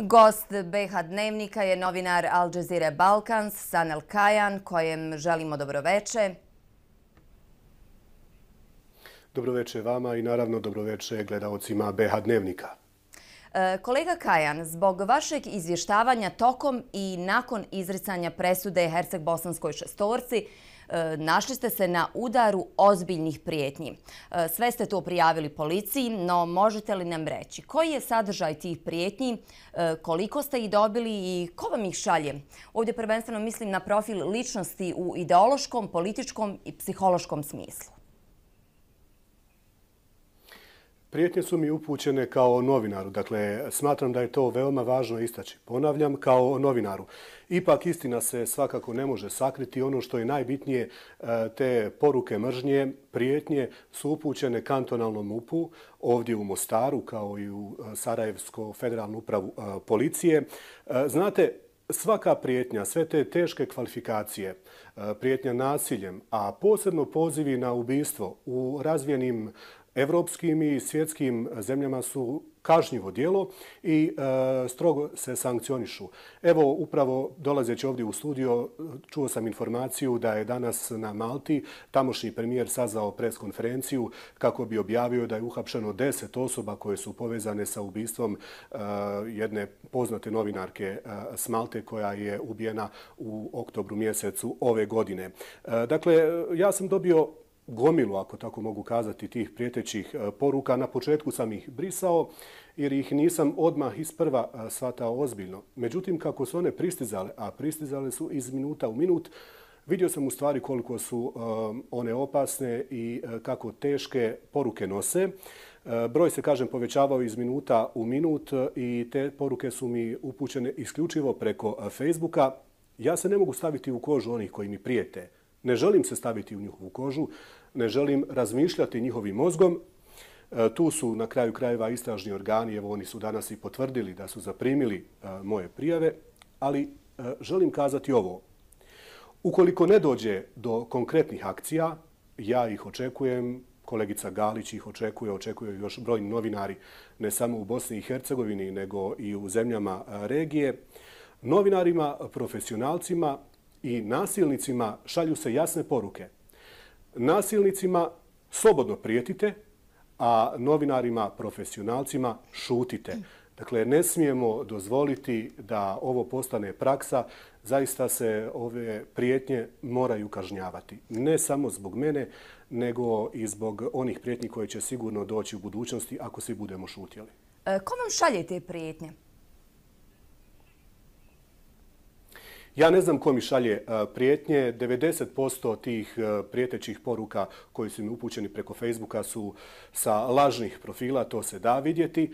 Gost BiH Dnevnika je novinar Al Jazeere Balkans Sanel Kajan, kojem želimo dobroveče. Dobroveče vama i naravno dobroveče gledaocima BiH Dnevnika. Kolega Kajan, zbog vašeg izvještavanja tokom i nakon izricanja presude Herceg-Bosanskoj šestorci, našli ste se na udaru ozbiljnih prijetnji. Sve ste to prijavili policiji, no možete li nam reći koji je sadržaj tih prijetnji, koliko ste ih dobili i ko vam ih šalje? Ovdje prvenstveno mislim na profil ličnosti u ideološkom, političkom i psihološkom smislu. Prijetnje su mi upućene kao novinaru, dakle smatram da je to veoma važno istaći. Ponavljam, kao novinaru. Ipak istina se svakako ne može sakriti. Ono što je najbitnije, te poruke mržnje, prijetnje su upućene kantonalnom MUP-u ovdje u Mostaru kao i u Sarajevsku federalnu upravu policije. Znate, svaka prijetnja, sve te teške kvalifikacije, prijetnja nasiljem, a posebno pozivi na ubistvo u razvijenim evropskim i svjetskim zemljama su kažnjivo djelo i strogo se sankcionišu. Evo, upravo dolazeći ovdje u studio, čuo sam informaciju da je danas na Malti tamošnji premijer sazvao preskonferenciju kako bi objavio da je uhapšeno 10 osoba koje su povezane sa ubistvom jedne poznate novinarke s Malte koja je ubijena u oktobru mjesecu ove godine. Dakle, ja sam dobio gomilu, ako tako mogu kazati, tih prijetećih poruka. Na početku sam ih brisao jer ih nisam odmah isprva shvatao ozbiljno. Međutim, kako su one pristizale, a pristizale su iz minuta u minut, vidio sam u stvari koliko su one opasne i kako teške poruke nose. Broj se, kažem, povećavao iz minuta u minut i te poruke su mi upućene isključivo preko Facebooka. Ja se ne mogu staviti u kožu onih koji mi prijete. Ne želim se staviti u njihovu kožu, ne želim razmišljati njihovim mozgom. Tu su na kraju krajeva istražni organi, evo oni su danas i potvrdili da su zaprimili moje prijave, ali želim kazati ovo. Ukoliko ne dođe do konkretnih akcija, ja ih očekujem, kolegica Galić ih očekuje još brojni novinari, ne samo u Bosni i Hercegovini, nego i u zemljama regije. Novinarima, profesionalcima i nasilnicima šalju se jasne poruke. Nasilnicima slobodno prijetite, a novinarima, profesionalcima šutite. Dakle, ne smijemo dozvoliti da ovo postane praksa. Zaista se ove prijetnje moraju kažnjavati. Ne samo zbog mene, nego i zbog onih prijetnji koje će sigurno doći u budućnosti ako svi budemo šutjeli. Ko vam šalje te prijetnje? Ja ne znam ko mi šalje prijetnje. 90% tih prijetećih poruka koji su mi upućeni preko Facebooka su sa lažnih profila, to se da vidjeti.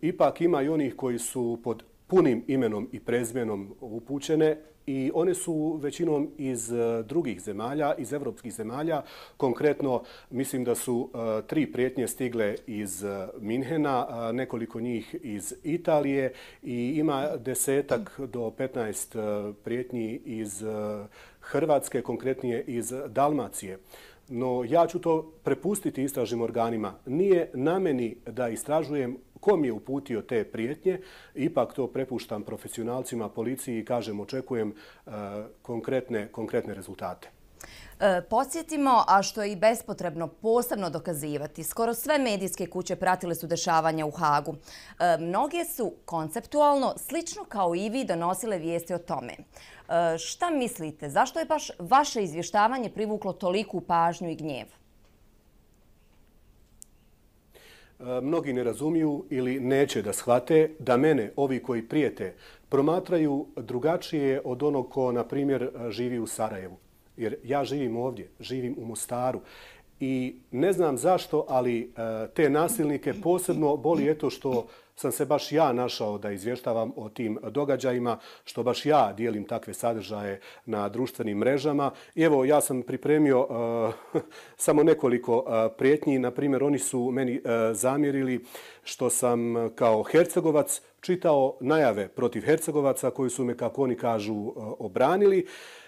Ipak ima i onih koji su pod punim imenom i prezimenom upućene i one su većinom iz drugih zemalja, iz evropskih zemalja. Konkretno, mislim da su 3 prijetnje stigle iz Minhena, nekoliko njih iz Italije i ima 10 do 15 prijetnji iz Hrvatske, konkretnije iz Dalmacije. No ja ću to prepustiti istražnim organima. Nije na meni da istražujem ko mi je uputio te prijetnje. Ipak to prepuštam profesionalcima, policiji i kažem očekujem konkretne rezultate. Podsjetimo, a što je i bespotrebno posebno dokazivati, skoro sve medijske kuće pratile su dešavanja u Hagu. Mnoge su konceptualno, slično kao i vi, donosile vijesti o tome. Šta mislite, zašto je baš vaše izvještavanje privuklo toliku pažnju i gnjev? Mnogi ne razumiju ili neće da shvate da mene, ovi koji prijete, promatraju drugačije od onog ko, na primjer, živi u Sarajevu. Jer ja živim ovdje, živim u Mostaru i ne znam zašto, ali te nasilnike posebno boli eto što sam se baš ja našao da izvještavam o tim događajima, što baš ja dijelim takve sadržaje na društvenim mrežama. I evo, ja sam pripremio samo nekoliko prijetnji. Na primjer, oni su meni zamjerili što sam kao Hercegovac čitao najave protiv Hercegovaca koji su me, kako oni kažu, obranili.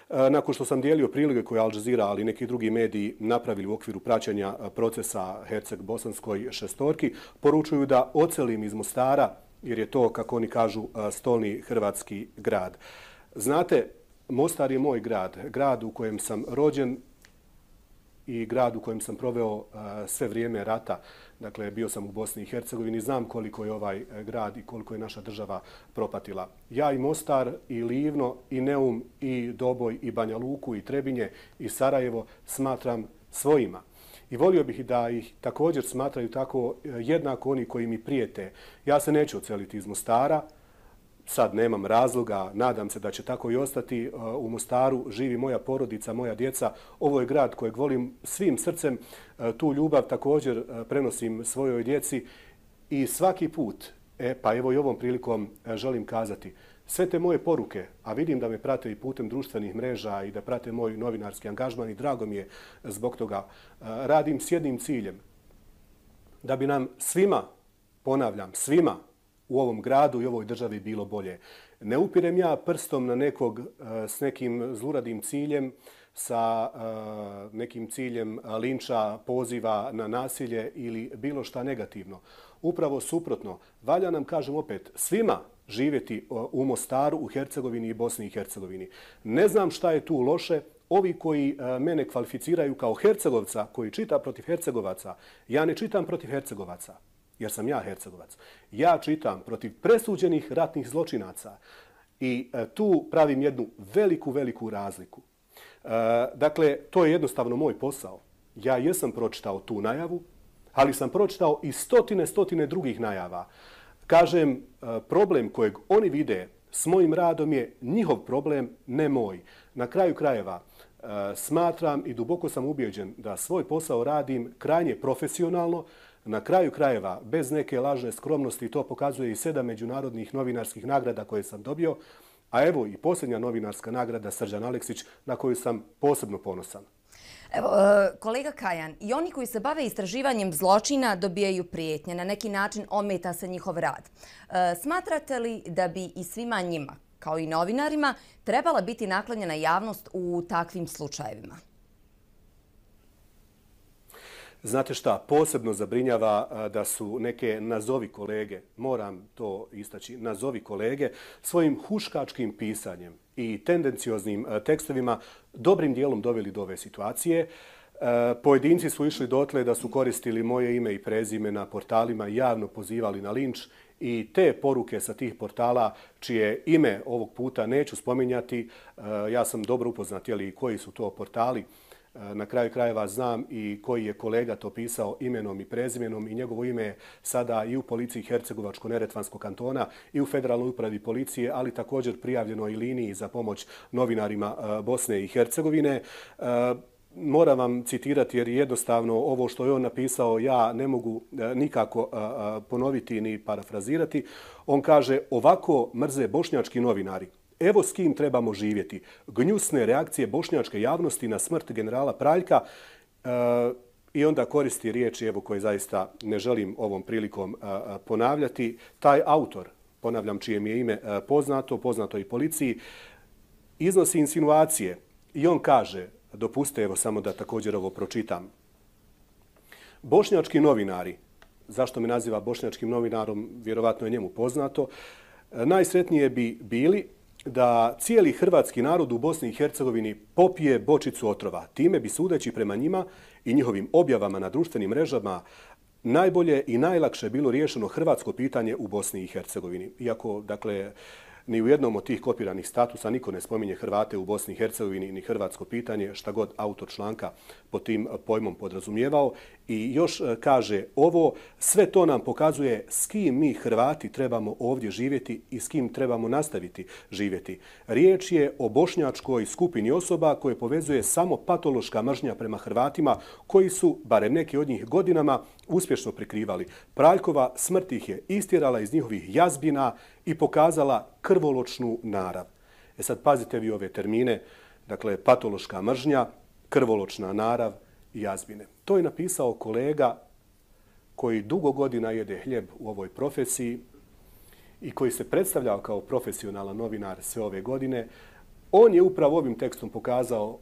Nakon što sam dijelio prilike koje Al Jazeera, ali neki drugi mediji napravili u okviru praćenja procesa Herceg-Bosanskoj šestorki, poručuju da odselim iz Mostara jer je to, kako oni kažu, stolni hrvatski grad. Znate, Mostar je moj grad, grad u kojem sam rođen i grad u kojem sam proveo sve vrijeme rata. Dakle, bio sam u Bosni i Hercegovini, znam koliko je ovaj grad i koliko je naša država propatila. Ja i Mostar, i Livno, i Neum, i Doboj, i Banja Luku, i Trebinje, i Sarajevo smatram svojima. I volio bih da ih također smatraju tako jednako oni koji mi prijete. Ja se neću odseliti iz Mostara, sad nemam razloga, nadam se da će tako i ostati. U Mostaru živi moja porodica, moja djeca. Ovo je grad kojeg volim svim srcem. Tu ljubav također prenosim svojoj djeci i svaki put, pa evo i ovom prilikom želim kazati, sve te moje poruke, a vidim da me prate i putem društvenih mreža i da prate moj novinarski angažman i drago mi je zbog toga, radim s jednim ciljem. Da bi nam svima, ponavljam, svima u ovom gradu i ovoj državi bilo bolje. Ne upirem ja prstom na nekog s nekim zluradim ciljem, sa nekim ciljem linča, poziva na nasilje ili bilo šta negativno. Upravo suprotno, valja nam, kažem opet, svima živjeti u Mostaru, u Hercegovini i Bosni i Hercegovini. Ne znam šta je tu loše. Ovi koji mene kvalificiraju kao Hercegovca, koji čita protiv Hercegovaca, ja ne čitam protiv Hercegovaca, jer sam ja Hercegovac. Ja čitam protiv presuđenih ratnih zločinaca i tu pravim jednu veliku razliku. Dakle, to je jednostavno moj posao. Ja jesam pročitao tu najavu, ali sam pročitao i stotine drugih najava. Kažem, problem kojeg oni vide s mojim radom je njihov problem, ne moj. Na kraju krajeva smatram i duboko sam ubijeđen da svoj posao radim krajnje profesionalno. Na kraju krajeva, bez neke lažne skromnosti, to pokazuje i 7 međunarodnih novinarskih nagrada koje sam dobio, a evo i posljednja novinarska nagrada Srđan Aleksić na koju sam posebno ponosan. Evo, kolega Kajan, i oni koji se bave istraživanjem zločina dobijaju prijetnje, na neki način ometa se njihov rad. Smatrate li da bi i svima njima, kao i novinarima, trebala biti naklonjena javnost u takvim slučajevima? Znate šta, posebno zabrinjava da su neke nazovi kolege, moram to istaći, nazovi kolege, svojim huškačkim pisanjem i tendencioznim tekstovima dobrim dijelom doveli do ove situacije. Pojedinci su išli dotle da su koristili moje ime i prezime na portalima i javno pozivali na linč i te poruke sa tih portala, čije ime ovog puta neću spominjati, ja sam dobro upoznat koji su to portali. Na kraju krajeva znam i koji je kolega to pisao imenom i prezimenom i njegovo ime je sada i u policiji Hercegovačko-Neretvanskog kantona i u Federalnoj upravi policije, ali također prijavljeno i liniji za pomoć novinarima Bosne i Hercegovine. Moram vam citirati jer jednostavno ovo što je on napisao ja ne mogu nikako ponoviti ni parafrazirati. On kaže: ovako mrze bošnjački novinari. Evo s kim trebamo živjeti. Gnjusne reakcije bošnjačke javnosti na smrt generala Praljka i onda koristi riječi koje zaista ne želim ovom prilikom ponavljati. Taj autor, ponavljam čije mi je ime poznato i policiji, iznosi insinuacije i on kaže, dopustite evo samo da također ovo pročitam. Bošnjački novinari, zašto me naziva bošnjačkim novinarom, vjerovatno je njemu poznato, najsretnije bi bili da cijeli hrvatski narod u Bosni i Hercegovini popije bočicu otrova. Time bi, sudeći prema njima i njihovim objavama na društvenim mrežama, najbolje i najlakše bilo riješeno hrvatsko pitanje u Bosni i Hercegovini. Iako, dakle, ni u jednom od tih kopiranih statusa niko ne spominje Hrvate u Bosni i Hercegovini ni hrvatsko pitanje, šta god autor članka pod tim pojmom podrazumijevao. I još kaže ovo, sve to nam pokazuje s kim mi Hrvati trebamo ovdje živjeti i s kim trebamo nastaviti živjeti. Riječ je o bošnjačkoj skupini osoba koje povezuje samo patološka mržnja prema Hrvatima koji su, barem neki od njih godinama, uspješno prikrivali. Praljkova smrt ih je istjerala iz njihovih jazbina i pokazala krvoločnu narav. Sad pazite vi ove termine, dakle patološka mržnja, krvoločna narav i jazbine. To je napisao kolega koji dugo godina jede hljeb u ovoj profesiji i koji se predstavljao kao profesionalan novinar sve ove godine. On je upravo ovim tekstom pokazao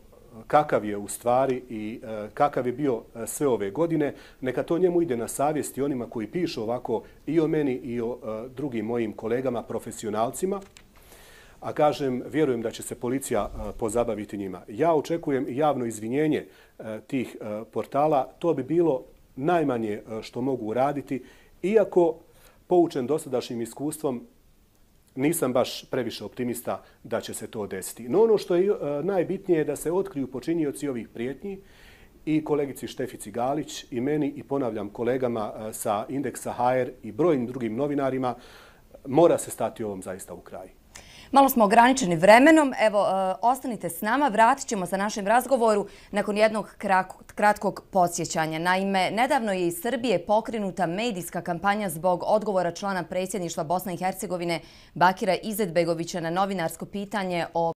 kakav je u stvari i kakav je bio sve ove godine, neka to njemu ide na savjest i onima koji pišu ovako i o meni i o drugim mojim kolegama, profesionalcima. A kažem, vjerujem da će se policija pozabaviti njima. Ja očekujem javno izvinjenje tih portala. To bi bilo najmanje što mogu uraditi, iako poučen dosadašnjim iskustvom nisam baš previše optimista da će se to desiti. No ono što je najbitnije je da se otkriju počinioci ovih prijetnji i kolegici Štefici Galić i meni i ponavljam kolegama sa Indeksa HR i brojnim drugim novinarima. Mora se stati ovom zaista u kraj. Malo smo ograničeni vremenom. Evo, ostanite s nama. Vratit ćemo se našem razgovoru nakon jednog kratkog podsjećanja. Naime, nedavno je iz Srbije pokrenuta medijska kampanja zbog odgovora člana predsjedništva Bosne i Hercegovine Bakira Izetbegovića na novinarsko pitanje o